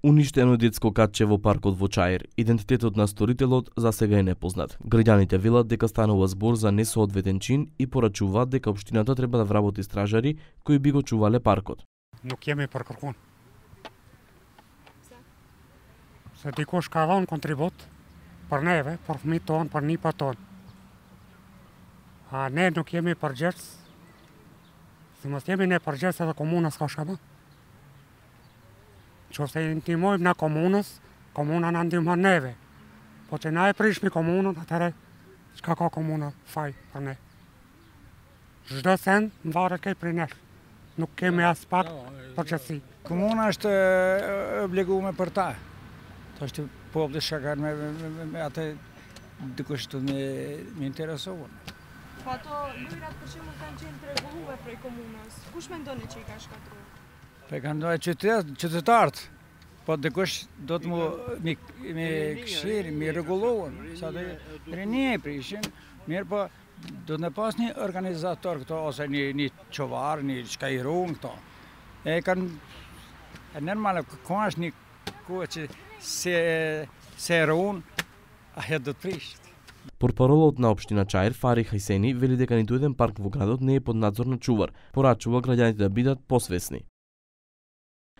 Уништено е детско катче во паркот во Чаир. Идентитетот на сторителот за сега е непознат. Граѓаните велат дека станува збор за несоодветен чин и порачуваат дека општината треба да вработи стражари кои би го чувале паркот. No chiami per qualcuno. Se dico scava un contributo per neve, per miton, per nipaton. A ne no chiami per gers. Se mă chiami ne per gers da comuna scașama. Čo se intimoj na komunas, komuna nandim har neve. Pote naj prišli komuna, da tere kako komuna faj per ne. Жда сен вара кај принеш. Nuk kemi as pak përgjithësi. Komuna është obliguar për ta. Është populli shakar me atë dikush të me interesuar. Po ato lojrat për shembull kanë qenë të rregulluar prej komunës. Kush mendon që i ka shkatruar? Po kanë ndonjë qytetarët. Po dikush do të me këshir, me rregulluar. Sa do rini prishin, mirë po do të pas një organizator këto ose një çovar, një çka i ruan këto. E kanë normal ka është një kohë që se ruan, ajo do të prishet. Портпаролот на општина Чаир Фари Хајсени вели дека ниту еден парк во градот не е под надзор на чувар, порачува граѓаните да бидат посвесни.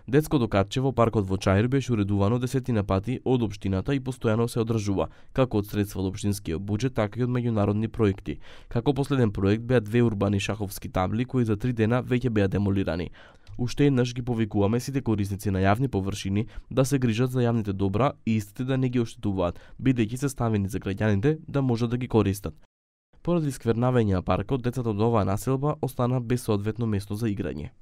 Детското катче во паркот во Чаир беше уредувано десетина пати од општината и постојано се одржува, како од средства од општинскиот буџет, така и од меѓународни проекти. Како последен проект беа 2 урбани шаховски табли кои за 3 дена веќе беа демолирани. Уште еднаш ги повикуваме сите корисници на јавни површини да се грижат за јавните добра и истите да не ги оштетуваат, бидејќи се ставени за граѓаните да можат да ги користат. Поради сквернавање на паркот, децата од оваа населба остана без соодветно место за играње.